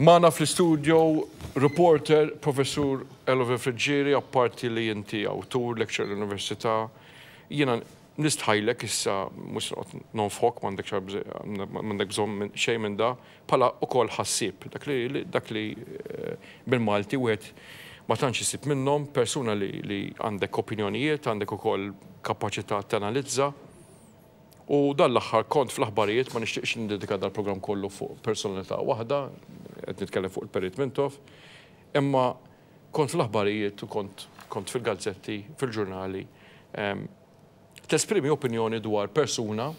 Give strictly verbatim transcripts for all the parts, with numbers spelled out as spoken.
Magħna fl-studio reporter, Professur Elovin Friggieri, apparti li inti awtur, lecturer l-Università. Jiena nistħajlek issa, mhux nonfok, m'għandek bżonn xejn minn da, bħala ukoll ħassieb, dak li dak li bil-Malti wieħed ma tantx isib minnhom, persuna li għandek opinjonijiet, għandek ukoll kapaċità tanalizza. U dan l-aħħar kont fl-aħbarijiet, ma nixtieqx nindedika dal-programm kollu fuq personalità waħda, qed nitkellem fuq il-Perit Mintoff, imma kont fl-aħbarijiet u kont kont fil-gazzetti, fil-ġurnali, tesprimi opinjoni dwar persuna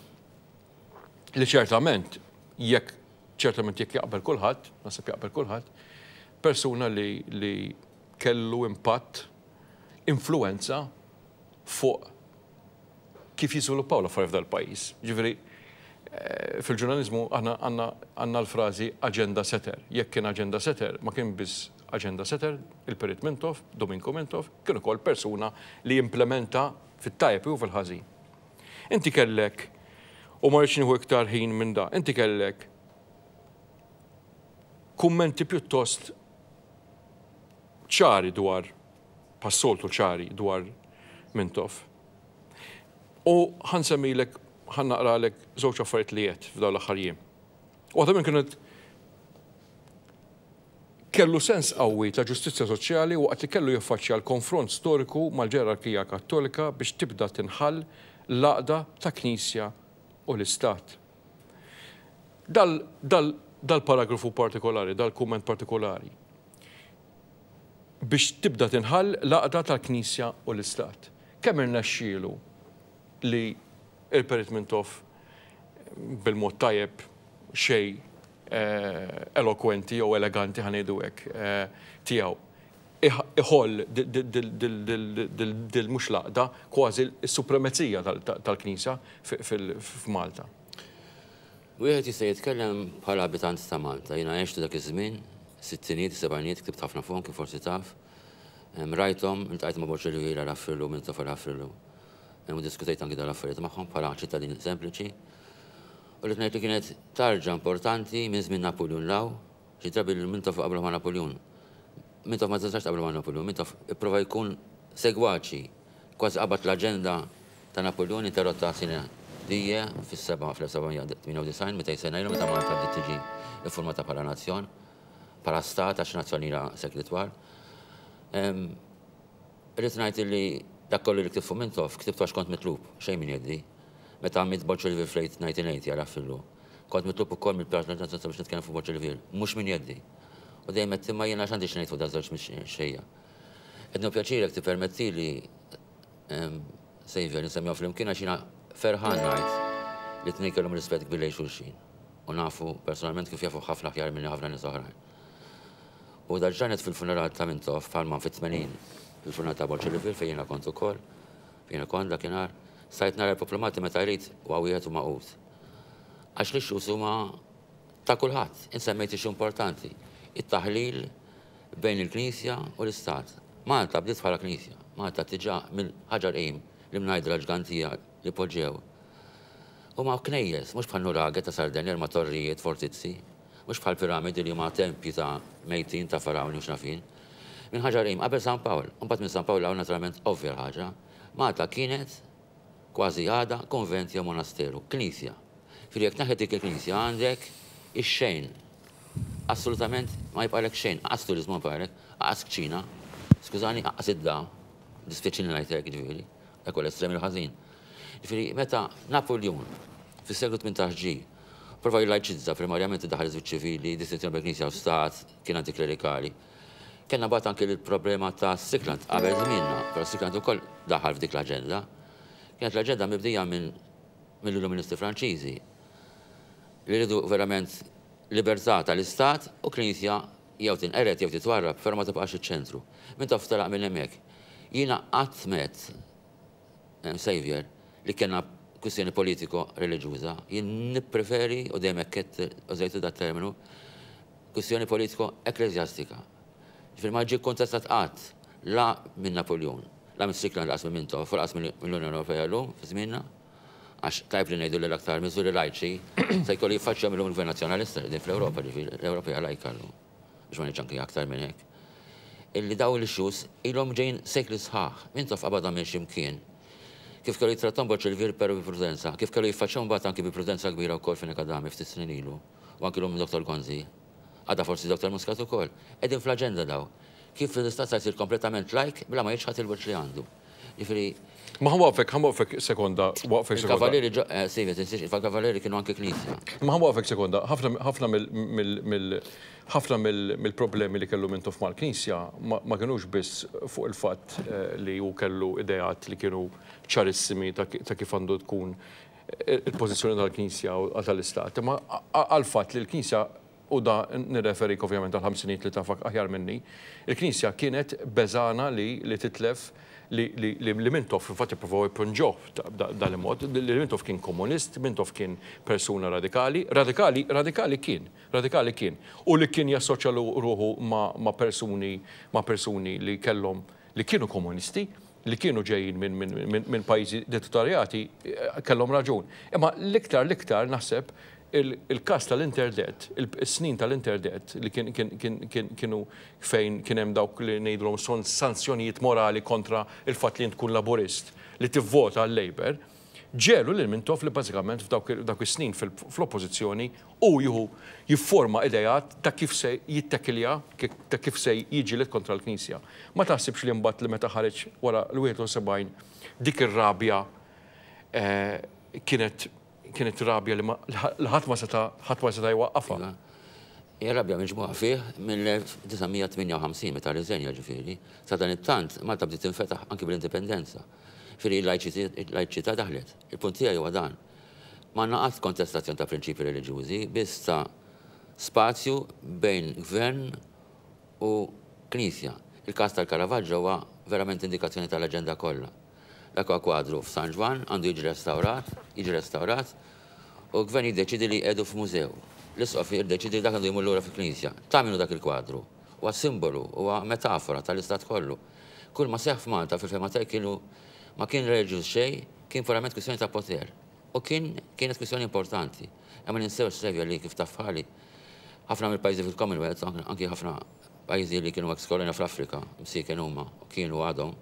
li ċertament jekk ċertament jekk jaqbel kulħadd, naħseb jaqbel kulħadd, persuna li, li kellu impatt, influenza fuq kif jiżviluppaw l-affarijiet f'dal-pajjiż. Ġifieri, fil-ġurnalizmu aħna għandna l-frażi agenda setter. Jekk kien agenda setter, ma kien biss agenda setter, il-Perit Mintoff, Dominko Mintoff, kien ukoll persuna li implementa fit-tajjeb u fil-ħażin. Inti kellek, u ma rridx nieħu iktar ħin minn da, inti kellek kummenti pjuttost ċari dwar, passoltu ċari dwar Mintoff. U ħa nsemmilek, ħa naqralek żewġ affarijiet li għedt f'dawn l-aħħar jiem. Waħda minn kienet kellu sens qawwi ta' ġustizzja soċjali waqt li kellu jiffaċċja l-konfront storiku mal-ġerarkija Kattolika biex tibda tinħall l-għaqda ta' Knisja u l-Istat. Dal-paragrafu partikolari, dal-kumment partikolari, biex tibda tinħall l-għaqda tal-Knisja u l-Istat. Kemm irnexxielu li il-Perit Mintoff bil-mod tajjeb xej elokwenti jew eleganti, ħa ngħidu hekk, tiegħu iħoll dil mhux l-għaqda, kważi s-supremazija tal-Knisja f'Malta. Wieħed jista' jitkellem bħala abitant ta' Malta. Jiena għextu dak iż-żmien, sittinijiet, sebgħinijiet, ktibt ħafna fuqhom kif forsi taf. Rajthom, iltqajt ma' Boċelli Għafrilu, Mintoff Għafrilu. U diskutejt anki dal-affarijiet magħhom bħala ċittadin sempliċi. U li ngħid li kienet tarġa importanti minn żmien Napoleon law, xi drabi li Mintoff qablu ma' Napoleon. Mintoff ma tistax qablu ma' Napoleon, Mintoff ipprova jkun segwaċi, kważi qabad l-aġenda ta' Napoleon interrotta sine die fis-seba' fl-elf seba' mija tmienja u disgħin, meta sena ilu, meta Malta bdiet tiġi iffurmata bħala nazzjon, bħala stat, għax nazzjon ilha sekli twal. Irrid ngħid li dak kollu li ktibt fuq Mintoff, ktibtu għax kont mitlub, xejn minn jeddi. Meta għamilt Boċċoli fl-elf disa' mija tmeninta għal fillu. Kont mitlub ukoll mill-Partit Nazzjonalista biex nitkellem fuq Boċċoli, mhux minn jeddi. U dejjem qed imma jiena x'għandi x'ngħid fuq daż-żewġ mexxejja. Qed nieħu pjaċir jekk tippermettili, Xavier, nsemmihom flimkien għax jiena ferħan ngħid li tnejn kellhom rispett kbir lejn xulxin. U nafu personalment kif jafu ħafna aħjar minni ħafna nies oħrajn. U dal-ġranet fil-funeral ta' Mintoff, bħalma fit-tmenin fil-funeral ta' Boċċoli fejn jiena kont ukoll, fejn kont dakinhar, stajt nara l-poplu Malti meta jrid huwa wieħed u magħqud. Għax li xus huma ta' kulħadd, insemmejt issue importanti, it-taħlil bejn il-Knisja u l-Istat. Malta bdiet bħala Knisja, Malta tiġa mill-ħaġar qim li mnajdra ġgantija li poġġew. U ma' knejjes, mhux bħal nuraghe ta' Sardenja ma' torrijiet, fortizzi, mhux bħal piramidi li huma tempji ta' mejtin ta' farawni u x'nafin. Minn ħaġar qim, qabel San Pawl, u mbagħad minn San Pawl hawn naturalment ovvja l-ħaġa. Malta kienet kważi għada konvent jew monasteru, knisja. Fili jekk naħed dik il-knisja għandek ix-xejn. Assolutament ma jibqalek xejn, qas turizmu ma jibqalek, qas kċina, skużani, qas id-da, dispjaċini ngħidlek ġifieri, dak huwa l-estrem il-ħażin. Ġifieri meta Napoleon fis-seklu tmintax ġie, prova jlajċizza, primarjament daħal iż ċivili, distinzjoni bejn knisja u stat, kien antiklerikali. Kellna bat anke l-problema ta' Strickland qabel żmienna, però Strickland ukoll daħal f'dik l-aġenda. Kienet l-aġenda mibdija minn mill-Illuministi Franċiżi li rridu verament libertà tal-Istat u Knisja jew tinqered jew titwarrab, però ma tibqax iċ-ċentru. Min taf telaq minn hemmhekk. Jiena qatt met, Xavier, li kellna kwistjoni politiko-reliġjuża, jien nippreferi, u dejjem hekk użajtu dat terminu, kwistjoni politiko-ekklesjastika. Ġifieri ma ġie kontestat qatt la minn Napoleon, la minn Strickland, laqas minn Mintoff, u laqas mill-Unjoni Ewropea llum fi żmienna, għax tajb li ngħidu li l-aktar miżuri lajċi se jkollu jiffaċċja mill-lum il-Gvern Nazzjonalista li fl-Ewropa, ġifieri l-Ewropea lajka llum. biex ma ngħidx anki aktar minn hekk, illi daw l-issues ilhom ġejn sekli sħaħ, Mintoff qabadha minn x'imkien. Kif kellu jittrattom Borg però bi prudenza, kif kellu jiffaċċjaw mbagħad anki bi prudenza kbira wkoll Fenech Adami ftit snin ilu, u anki l-lum Doktor Gonzi, għada forsi Doktor Muscat ukoll. Qegħdin fl-aġenda daw. Kif l-istat sa jsir kompletament lajk bla ma jiċħad il-wirt li għandu. Jiġifieri. Ma ħa nwaqqfek, ħa nwaqqfek sekonda, waqfek sekonda. Il-kavaleri, eh, Silvia, tinsiex, il-kavaleri kienu anki knisja. Ma ħa nwaqqfek sekonda, ħafna mill ħafna mill-problemi li kellu Mintoff mal-Knisja ma kienux biss fuq il-fatt eh, li hu kellu ideat li kienu ċarissimi ta' kif għandu tkun il-pożizzjoni tal-Knisja u tal-Istat, ma għal-fatt li l-Knisja, u da nirreferik ovvjament għal-ħamsinijiet li tafak aħjar minni, il-Knisja kienet beżgħana li li titlef li li li Mintoff, infatti provaw jpunġuh dal-mod, li Mintoff kien komunist, Mintoff kien persuna radikali, radikali, radikali kien, radikali kien, u li kien jassoċja ruħu ma' persuni, ma' persuni li kellhom, li kienu komunisti, li kienu ġejjin minn pajjiżi dittatorjati, kellhom raġun. Imma l-iktar l-iktar naħseb il-kas tal-interdet, il-snin tal-interdet li kienu fejn kien hemm dawk li ngħidulhom son sanzjonijiet morali kontra il-fatt li tkun laburist li tivvota għal-Labour, ġelu lil Mintoff li bażikament f'dawk is-snin fl-oppożizzjoni u jieħu jifforma idejat ta' kif se jittekilja, ta' kif se jiġilet kontra l-Knisja. Ma taħsibx li mbagħad li meta ħareġ wara l-wieħed u sebgħin dik ir-rabja eh, kienet kienet rabja li ħadd ma seta' ħadd ma seta' jwaqqafha? Iva. Hija rabja miġmugħa fih mill-elf disa' mija tmienja u ħamsin meta rriżenja ġifieri. Sa dan it-tant Malta bdiet tinfetaħ anki bl-indipendenza. Ġifieri l-lajċità daħlet. Il-punt tiegħi huwa dan. Ma naqgħod kontestazzjoni ta' prinċipi reliġjużi, biss ta' spazju bejn gvern u knisja. Il-każ tal-Caravaggio huwa verament indikazzjoni tal-aġenda kollha. Dak huwa kwadru f'San Ġwann għandu jiġi restawrat, jiġi restawrat, u l-gvern jiddeċidi li jqiegħdu f'mużew. L-isqof jiddeċidi dak għandu jmur lura fil-knisja. Ta' minnu dak il-kwadru? Huwa simbolu, huwa metafora tal-istat kollu. Kull ma seħħ f'Malta fil-fehma tiegħi kienu ma kien reliġjuż xejn, kien purament kwistjoni ta' poter. U kien, kienet kwistjoni importanti. Imma ninsewx Silvia li kif tafħali ħafna mill-pajjiżi fil-Commonwealth, anki ħafna pajjiżi li kienu ex-kolonja fl-Afrika, msiken huma, u kienu għadhom,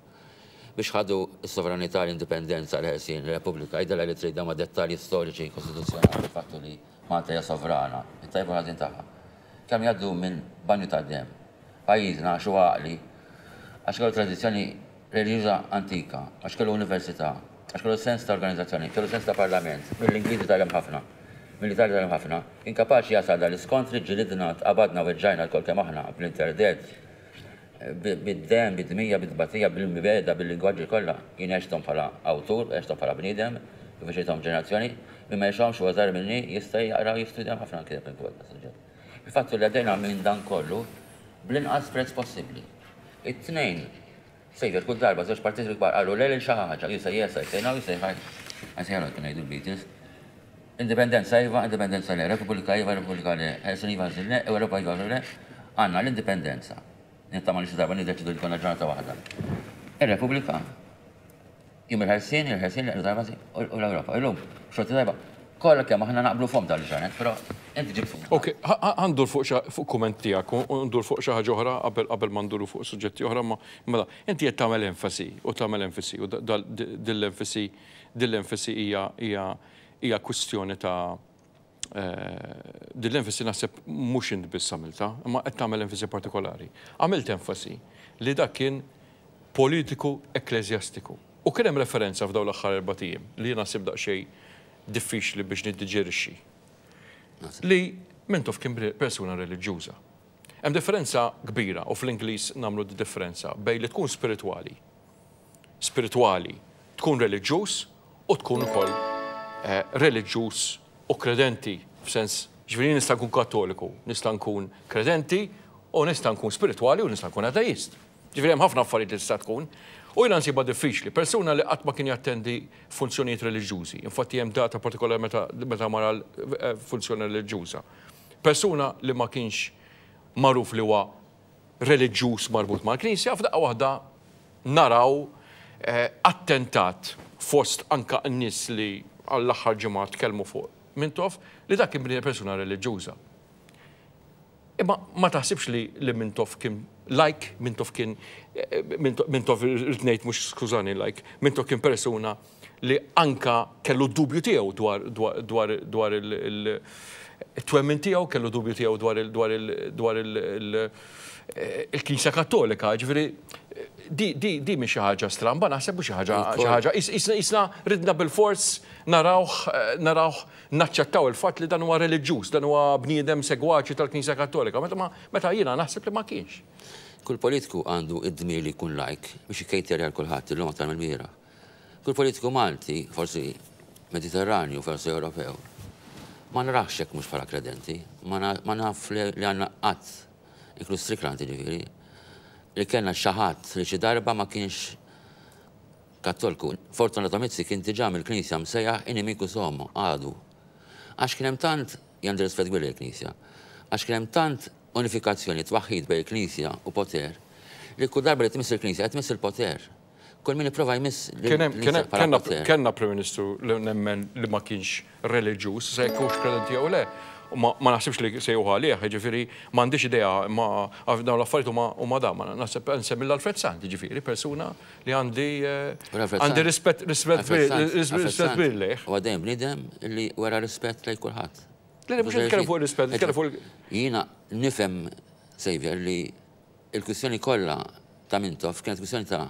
biex ħadu s-sovranità, l-indipendenza, l-ħelsien, l-Repubblika, id li trid ma' dettalji storiċi kostituzzjonali, fattu li Malta hija sovrana, it-tajba ħażin tagħha. Kemm jgħaddu minn banju ta' dem. Pajjiżna għax huwa għaqli, għax kellu tradizzjoni reliġjuża antika, għax kellu università, għax kellu sens ta' organizzazzjoni, kellu sens ta' parlament, mill-Ingliżi tgħallem ħafna, mill-Italja tgħallem ħafna, kien kapaċi jasal dal-iskontri, ġilidna, tqabadna u ġajna l-kol kemm aħna bl-interdet, bid-dem, bid-dmija, bid-batija, bil-mibeda, bil-lingwaġġi kollha. Jien għexthom bħala awtur, għexthom bħala bniedem, kif għexithom ġenerazzjoni, min ma jgħixhomx huwa żgħar minni jista' jaqra u jistudja ħafna anke minn fuq tas-suġġett. Il-fattu li għaddejna minn dan kollu bl-inqas prezz possibbli. It-tnejn, sejjer kull darba żewġ partiti kbar qalu le lil xi ħaġa, you say yes, I say no, you say hi. I say hello, kien ngħidu l-Beatles. Indipendenza iva, indipendenza le, Repubblika iva, Repubblika le, Ħelsien iva, Ħelsien le, Ewropa iva, le, għandna l-indipendenza. Nittama li xi darba niddeċidu li konna ġurnata waħda. Ir-Repubblika, jum il-ħelsien, il-ħelsien, u l-Ewropa. Illum, xorti tajba, kollha kemm aħna naqblu fom dal-ġranet, però inti ġib fuq. Ok, ħa ndur fuq fuq kumment tiegħek, u ndur fuq xi ħaġa oħra qabel qabel ma nduru fuq suġġetti oħra, ma mela inti qed tagħmel enfasi u tagħmel enfasi u dil-enfasi dil-enfasi hija hija hija kwistjoni ta' dil-enfasi naħseb mhux int biss għamilta, imma qed tagħmel enfasi partikolari. Għamilt enfasi li dak kien politiku ekkleżjastiku. U kien hemm referenza f'dawn l-aħħar erba' ijiem li jiena nsib daqsxejn diffiċli biex niddiġerixxi. Li Mintoff kien persuna reliġjuża. Hemm differenza kbira, u fl-Ingliż nagħmlu differenza bejn li tkun spiritwali. Spiritwali, tkun reliġjuż u tkun ukoll, eh, reliġjuż u kredenti, f'sens, ġifieri nista' nkun kattoliku, nista' nkun kredenti u nista' nkun spiritwali u nista' nkun ateist. Ġifieri hemm ħafna affarijiet li tista' tkun. U jiena nsibha diffiċli, persuna li qatt ma kien jattendi funzjonijiet reliġjużi, infatti hemm data partikolari meta, meta mar għal, eh, funzjoni reliġjuża. Persuna li ma kienx magħruf li huwa reliġjuż marbut mal-Knisja, f'daqqa waħda naraw, eh, attentat fost anka n-nies li għall-aħħar ġimgħa tkellmu fuq Mintoff li dak kien persuna reliġjuża. Imma ma taħsibx li li Mintoff kien like, Mintoff kien, Mintoff irrid ngħid mhux skużani like, Mintoff kien persuna li anka kellu dubju tiegħu dwar dwar dwar il-twemmin tiegħu, kellu dubju tiegħu dwar dwar dwar il-Knisja Kattolika, ġifieri di di di mhix xi ħaġa stramba, naħseb mhux xi ħaġa xi ħaġa isna ridna bil-fors narawh narawh naċċettaw il-fatt li dan huwa reliġjuż, dan huwa bniedem segwaċi tal-Knisja Kattolika, meta meta jiena naħseb li ma kienx. Kull politiku għandu id-dmir li jkun like biex jkejter għal kulħadd illum aktar mill-mira. Kull politiku Malti, forsi Mediterranju, forsi Ewropew, ma narax hekk mhux bħala kredenti, ma naf li għandna qatt, inkluż Strickland ġifieri, li kellna xi ħadd li xi darba ma kienx Kattoliku. Fortunato Mizzi kien diġà mill-Knisja msejjaħ inimiku sommo, għadu. Għax kien hemm tant għandi rispett kbir il-Knisja, għax kien hemm tant unifikazzjoni twaħħid bejn il-Knisja u poter, li kull darba li tmiss il-Knisja qed tmiss il-poter. Kull min ipprova jmiss Kellna Prim Ministru li nemmen li ma kienx reliġjuż, se jkunx kredenti jew le, ma naħsibx li se juħu għalih, ġifieri m'għandix idea ma dawn l-affarijiet huma da, ma naħseb nsemmi l-Alfred Sant, ġifieri persuna li għandi għandi rispett rispett kbir lejh. U għadejn bniedem li wera rispett lejn kulħadd. Le mhux nitkellem fuq rispett, nitkellem fuq Jiena nifhem, Xavier, li l-kwistjoni kollha ta' Mintoff kienet kwistjoni ta'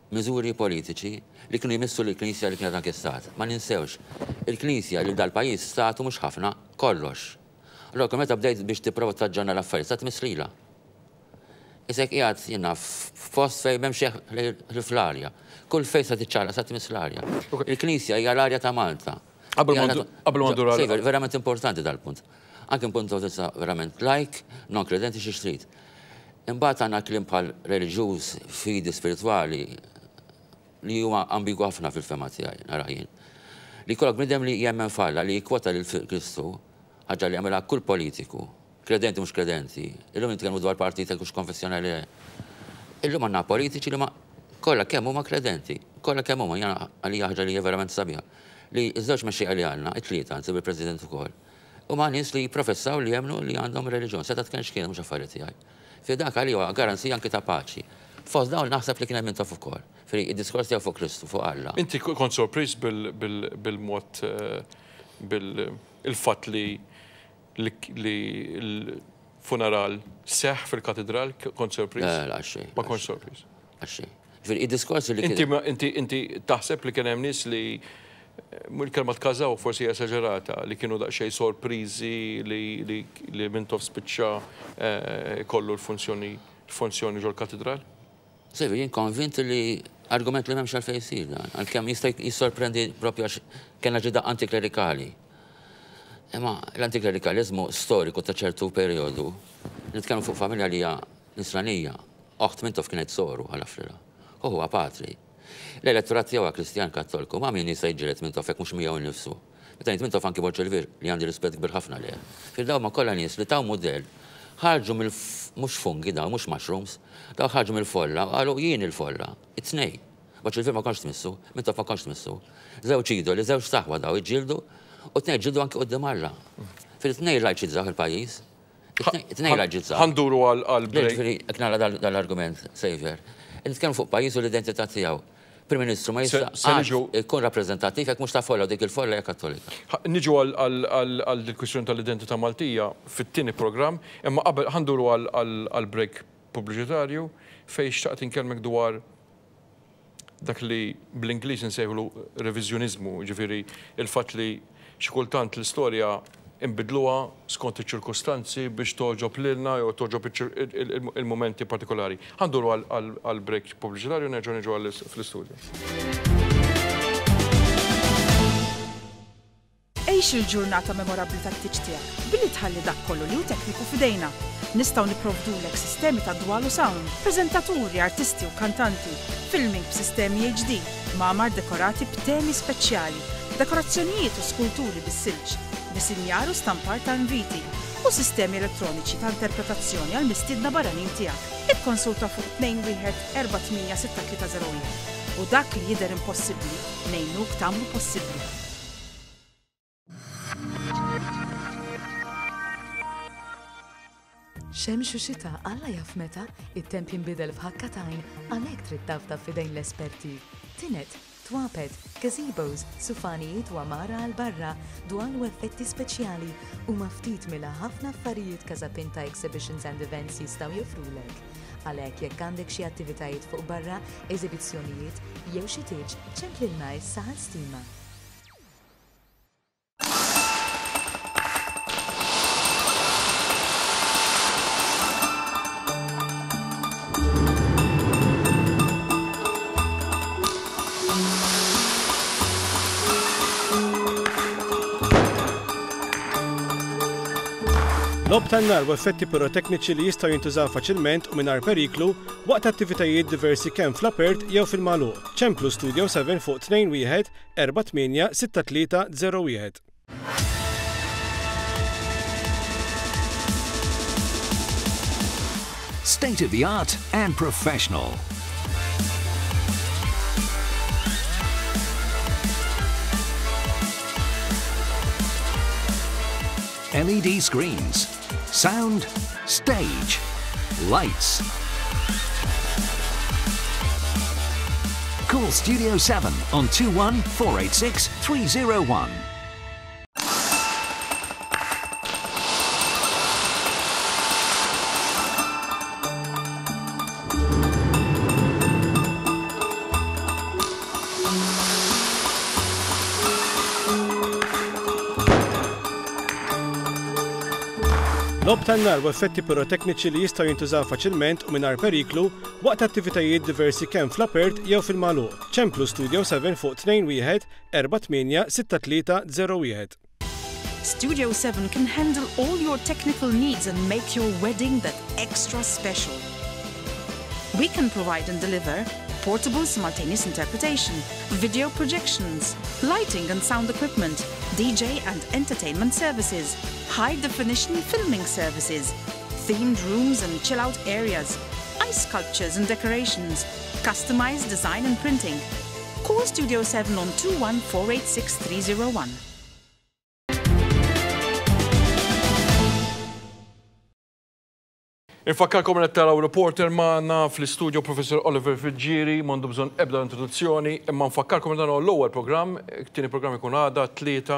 miżuri politiċi li kienu jmissu l-Knisja li kienet anke stat. Ma ninsewx, il-Knisja li dal-pajjiż statu mhux ħafna, kollox. Allora meta bdejt biex tipprova taġġorna l-affarijiet, sa tmiss lilha. Isek qiegħed jiena f'post fejn m'hemmx fl-arja. Kull fejn sa tiċċara sa tmiss l-arja. Il-Knisja hija l-arja ta' Malta. Qabel ma ndur Verament importanti dal-punt. Anke punt ta' verament like, non credenti xi trid. Imbagħad għandna kliem bħal reliġjuż, fidi spiritwali, li huma ambigu ħafna fil-fema tiegħi, nara jien. Li jkollok bniedem li jemmen falla, li jikkwota lil Kristu, ħaġa li jagħmilha kull politiku, kredenti mhux kredenti. Illum nitkellmu dwar partiti hux konfessjonali. Illum għandna politiċi li ma kollha kemm huma kredenti, kollha kemm huma jiena għalija ħaġa li hija verament sabiħa. Li ż-żewġ mexxejja li għandna, it-tlieta anzi bil-President ukoll, huma nies li jipprofessaw li jemmnu li għandhom reliġjon, seta' tkun x'kien mhux affarijiet tiegħi. Fi dak għalija huwa garanzija anke ta' paċi. Fost dawn naħseb li kien hemm Mintoff ukoll. Fri id-diskors tiegħu fuq Kristu, fuq Alla. Inti kont sorpriż bil-mod bil-fatt li l-funeral seħħ fil-katedral, kont sorpriż? Le, le, xejn. Ma kont sorpriż. Għax xejn. Ġifieri id-diskors li Inti inti taħseb li kien hemm nies li il-kelma tkażaw forsi esaġerata, li kienu daqsxejn sorpriżi li Mintoff spiċċa kollu l-funzjoni l-funzjoni ġol-katedral? Sevi, jien konvint li argument li m'hemmx għalfejn jsir dan, għalkemm jista' jissorprendi propju għax kellna ġida antiklerikali. Imma l-antiklerikalizmu storiku ta' ċertu perjodu, nitkellmu fuq familja li hija nisranija, oħt Mintoff kienet soru għal Afrila, u huwa patri. L-elettorat tiegħu Kristjan Kattoliku, ma min jista' jiġġieled Mintoff hekk mhux miegħu nnifsu. Meta ngħid Mintoff anki Borg Olivier li għandi rispett kbir ħafna lejh. Fil-daw ma kollha nies li taw mudell ħarġu mill mhux fungi daw, mhux mushrooms, daw ħarġu mill-folla, qalu jien il-folla, it-tnej. Borg Olivier ma kontx tmissu, Mintoff ma kontx tmissu. Żewġ idoli, żewġ saħwa daw iġġieldu, u tnej ġildu anki quddiem Alla. Fil-tnej lajċizzaw il-pajjiż. Tnej lajċizzaw. Ħa nduru għal break. Ġifieri, jekk nara dal-argument, Xavier. Nitkellmu fuq pajjiż u l-identità tiegħu. Prim Ministru ma jista' jkun rappreżentattiv jekk mhux ta' folla dik il-folla hija Kattolika. Niġu għal il-kwistjoni tal-identità Maltija fit-tieni programm, imma qabel ħa nduru għal break pubbliċitarju fejn xtaqt inkellmek dwar dak li bl-Ingliż insejħulu reviżjoniżmu, ġifieri il-fatt li xi kultant l-istorja imbidluha skont iċ-ċirkustanzi biex toġob lilna jew toġob il-momenti partikolari. Ħa nduru għal break pubbliċitarju nerġgħu niġu fl-istudju. Għix il-ġurnata memorabbli tat-tieġ tiegħek billi tħalli dak kollu li hu tekniku f'idejna. Nistgħu nipprovdulek sistemi ta' dwal u sound, preżentaturi, artisti u kantanti, filming b'sistemi H D, mamar dekorati b'temi speċjali, dekorazzjonijiet u skulturi bis-silġ, disinjar u stampar ta' inviti u sistemi elettroniċi ta' interpretazzjoni għal mistiedna barranin tiegħek. Ikkonsulta fuq tnejn wieħed erba' tmien sitta tlieta zero wieħed u dak li jidher impossibbli ngħinuk tagħmlu possibbli. Xemx u xita, Alla jaf meta, it-temp jinbidel f'ħakka t'għajn, għalhekk trid tafda f'idejn l-esperti. Tined, twapet, gazebos, sufanijiet u għamara għal barra, dwal u effetti speċjali u ftit minn ħafna affarijiet Casapinta Exhibitions and Events jistgħu joffrulek. Għalhekk jekk għandek xi attivitajiet fuq barra, eżibizzjonijiet jew xi tieġ, ċemplilna issa għal stima. Logħob tan-nar u effetti pirotekniċi li jistgħu jintużaw faċilment u mingħajr periklu waqt attivitajiet diversi kemm fl-apert jew fil-magħluq. Ċemplu Studio seba fuq tnejn wieħed erba' tmienja sitta tlieta zero wieħed. State of the art and professional. L E D screens, sound, stage, lights. Call Studio seven on two one four eight six three zero one. Logħob tan-nar u effetti pirotekniċi li jistgħu jintużaw faċilment u mingħajr periklu waqt attivitajiet diversi kemm fl-apert jew fil-magħluq. Ċemplu Studio seba fuq tnejn wieħed erba' tmienja sitta tlieta zero wieħed. Studio seven can handle all your technical needs and make your wedding that extra special. We can provide and deliver portable simultaneous interpretation, video projections, lighting and sound equipment, D J and entertainment services, high-definition filming services, themed rooms and chill-out areas, ice sculptures and decorations, customized design and printing. Call Studio seven on two one four eight six three zero one. Infakkarkom li taraw reporter magħna fl-istudio Professor Oliver Friggieri, m'għandu bżonn ebda introduzzjoni, imma nfakkarkom li dan huwa l-ewwel programm, it-tieni programm ikun għada tlieta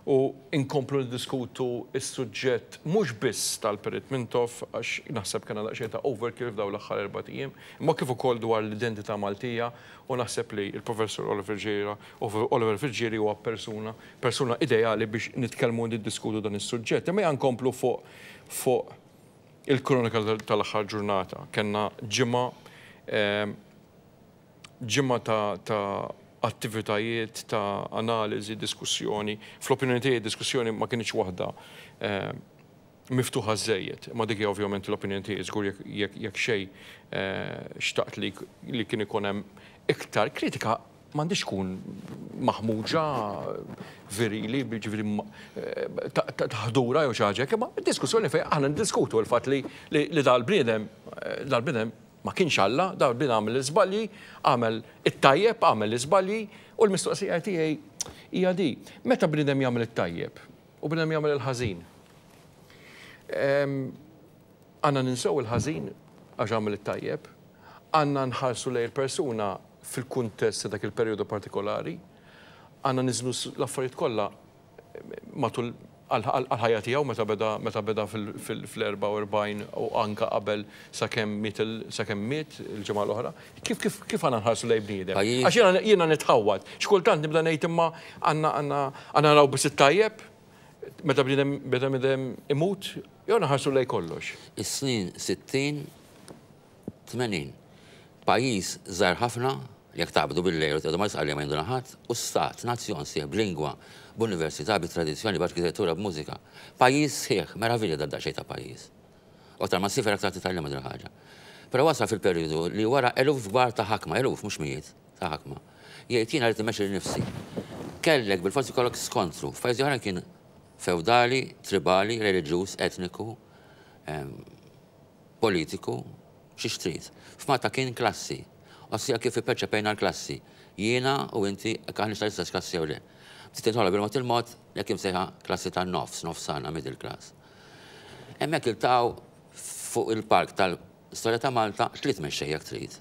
u inkomplu niddiskutu s-suġġett mhux biss tal-Perit Mintoff, għax naħseb kellna daqsxejn ta' overkill f'dawn l-aħħar erba' ijiem, imma kif ukoll dwar l-identità Maltija, u naħseb li l-Professor Oliver Friggieri, Oliver Friggieri huwa persuna, persuna ideali biex nitkellmu u niddiskutu dan is-suġġett. Imma nkomplu fuq, fuq il-kronika tal-aħħar ġurnata. Kellna ġimgħa, ehm, ġimgħa ta', ta' attivitajiet, ta' analiżi, diskussjoni. Fl-opinjoni tiegħi diskussjoni ma kienx waħda, ehm, miftuħa żejjed. Ma dik hija ovvjament l-opinjoni tiegħi, żgur jekk, jekk, jekk xejn, eh, xtaqt li, li kien ikun hemm iktar kritika m'għandix tkun maħmuġa virili, ġifieri ma-, eh, ta-, ta-, taħdura jew xi ħaġa, imma diskussjoni fejn aħna ndiskutu l-fatt li, li, li dal-bniedem, eh, dal-bniedem ma kienx Alla, dal-bniedem għamel l-iżbalji, għamel it-tajjeb, għamel l-iżbalji, u l-mistoqsija tiegħi hija di. Meta bniedem jagħmel it-tajjeb u bniedem jagħmel il-ħażin, em, għandna ninsew il-ħażin għax għamel it-tajjeb, għandna nħarsu lejn il-persuna fil-kuntest ta' dak il-perjodu partikolari, għandna niżnu s-, l-affarijiet kollha matul għal-ħajja tiegħu meta beda, meta beda fil-, fil-, fl-erba' u erbgħin u anka qabel sakemm miet il-, sakemm miet il-ġimgħa l-oħra. Kif, kif, kif għandna nħarsu lejn bniedem? Pajjiż. Għax jiena, jiena nitħawwad. X'kultant nibda ngħid imma għandna, għandna, għandna naraw biss it-tajjeb meta bniedem, meta bniedem imut, jew nħarsu lejn kollox. Is-snin sittin, tmenin. Pajjiż żgħar ħafna, jekk taqbdu bil-lejl u tgħidu ma jisqalli ma jinduna ħadd, u stat, nazzjon sieħ b'lingwa, b'università, bit-tradizzjoni, b'arkitettura, b'mużika. Pajjiż sħiħ, meravilja dan daqsxejn ta' pajjiż. U aktar ma ssiefer aktar titgħallem din il-ħaġa. Però wasal fil-perjodu li wara eluf kbar ta' ħakma, eluf mhux mijiet ta' ħakma. Jgħid jiena rrid immexxi lil nifsi. Kellek bil-forsi kollok skontru. F'pajjiżi oħra kien feudali, tribali, reliġjuż, etniku, em, politiku, xi xtrid. F'Malta kien klassi. Ossia kif ipperċepejna l-klassi. Jiena u inti jekk aħna tal-istess klassi jew le. Bdiet tinħoloq bil-mod il-mod jekk imsejħa klassi tan-nofs, nofsana, middle class. Hemmhekk iltaqgħu Fuq il-palk tal-istorja ta' Malta tliet mexxejja trid.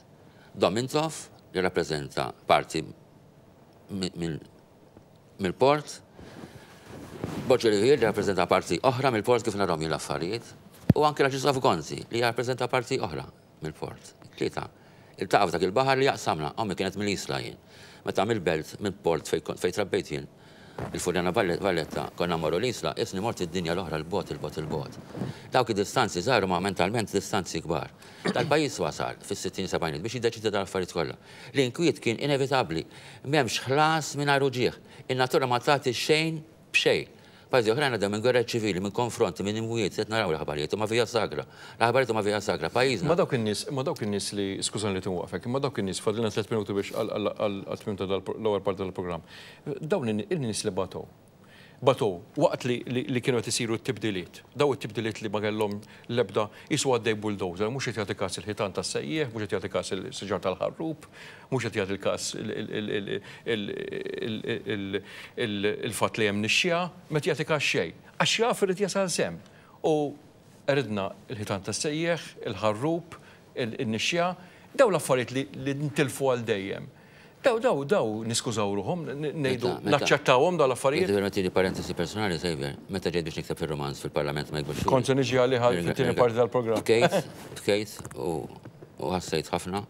Dom Mintoff, li rappreżenta parti mill-port, Borg Olivier li rappreżenta parti oħra mill-port kif narahom jien l-affarijiet, u anke l-Arċisqof Gonzi li jirrappreżenta parti oħra mill-port. Tlieta. Iltaqgħu f'dak il-baħar li jaqsamna, ommi kienet mill-Isla jien. Meta mill-belt, mill-port fejn trabbejt jien, il-Furjana Valletta, konna mmorru l-Isla, isni mort id-dinja l-oħra l-bogħod, il-bogħod, il-bogħod. Dawk id-distanzi żgħar ma mentalment distanzi kbar. Dal-pajjiż wasal fis-sittin sebgħinijiet biex jiddeċidi dal-affarijiet kollha. L-inkwiet kien inevitabbli, m'hemmx ħlas mingħajr uġigħ. In-natura ma tagħti xejn b'xejn. Pajjiżi oħrajn għaddew minn gwerra ċivili, minn konfronti, minn imwiet, qed naraw l-aħbarijiet huma via sagra. L-aħbarijiet huma via sagra, pajjiżna. Ma dawk in-nies, ma dawk in-nies li, skużani li tinwaqfek, imma dawk in-nies, fadlilna tliet minuti biex għal-tmiem tal-ewwel parti tal-programm. Dawn in-nies li batow, batow waqt li kienu qed isiru t-tibdiliet, daw it-tibdiliet li ma kellhom l-ebda jisu għaddej bulldozer, mhux qed jagħti każ il-ħitan tas-sejjieħ, mhux qed jagħti każ il-siġar tal-ħarrub, mhux qed jagħti każ il-fatt li hemm nixxija, ma qed jagħti każ xejn. Għax jaf irid jasal semm. U ridna il-ħitan tas-sejjieħ, il-ħarrub, il-nixxija, daw l-affarijiet li ntilfu għal dejjem. Daw, daw, daw, niskużaw ruħhom, ngħidu naċċettawhom daw l-affarijiet. Jekk permetti li parentesi personali, Xavier, meta ġejt biex nikteb fir-romanz fil-Parlament ma jkbux. Kont se niġi għalih fit-tieni parti tal-programm. Bkejt, bkejt u ħassejt ħafna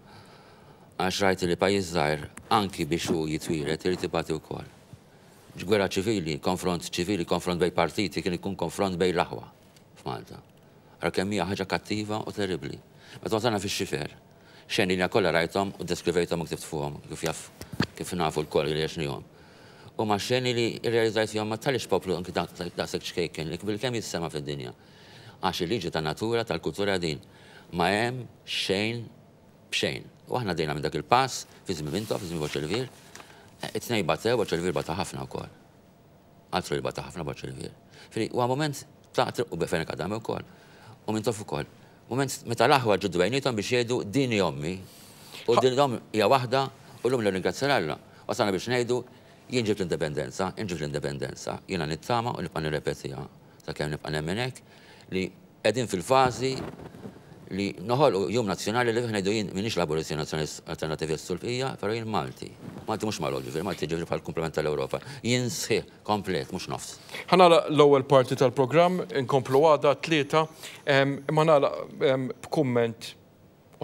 għax rajt li pajjiż żgħir anki biex hu jitwieled irid ibati wkoll. Gwerra ċivili, konfront ċivili, konfront bejn partiti kien ikun konfront bejn l-aħwa f'Malta. Ara kemm hija ħaġa kattiva u terribbli. Meta wasalna fix-xifer, xeni li kollha rajthom u deskrivejthom u ktibt fuqhom kif jaf kif nafu l-koll li għexnihom. U ma xeni li rrealizzajt fihom ma talix poplu anki daqshekk ċkejken li bil-kemm jissema fid-dinja. Għax il-liġi tan-natura tal-kultura din ma hemm xejn b'xejn. U aħna dejna minn dak il-pass fi żmien Mintoff, fi żmien Borg Olivier, it-tnejn batew, Borg Olivier bata ħafna wkoll. Altru li bata ħafna Borg Olivier. Fili huwa moment ta' u Fenech Adami wkoll. U Mintoff ukoll. Moment meta l-aħwa ġuddu bejnietom biex jgħidu din hi ommi u din l-omm hija waħda u llum nirringrazzja Alla. Wasalna biex ngħidu jien ġibt l-indipendenza, jien ġibt l-indipendenza, jiena nittama u nibqa' nirrepetiha sakemm nibqa' nemmen hekk li qegħdin fil-fażi li noħolqu jum nazzjonali li fih ngħidu jien m'iniex Laburist, Nazzjonalist, Alternativist sul-bqija, però jien Malti. Malti mhux magħluq ġifieri, Malti ġifieri bħal komplement tal-Ewropa. Jien sħiħ, komplet, mhux nofs. Ħa nagħlaq l-ewwel parti tal-programm, inkomplu għada tlieta, imma nagħlaq b'kumment,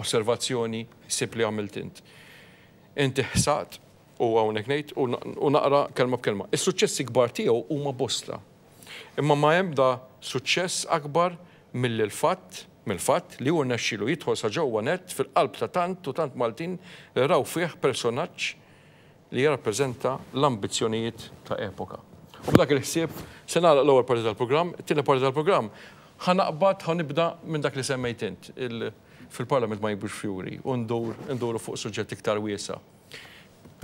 osservazzjoni, ħsieb li għamilt int. Inti ħsaqt u hawnhekk ngħid u naqra kelma b'kelma. Is-suċċessi kbar tiegħu huma bosta. Imma ma hemm da suċċess akbar mill-fatt mill-fatt li hu rnexxielu jidħol sa ġewwa net fil-qalb ta' tant u tant Maltin li raw fih personaġġ li jirrappreżenta l-ambizzjonijiet ta' epoka. U b'dak il-ħsieb se nagħlaq l-ewwel parti tal-programm, it-tieni parti tal-programm ħa naqbad ħa nibda minn dak li semmejt int fil-Parlament ma jibux fjuri u ndur nduru fuq suġġett iktar wiesa'.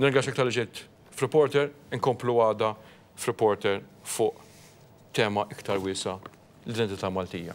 Nirringrazzjak talli ġejt f'Reporter, inkomplu għada f'Reporter fuq tema iktar wiesa' l-identità Maltija.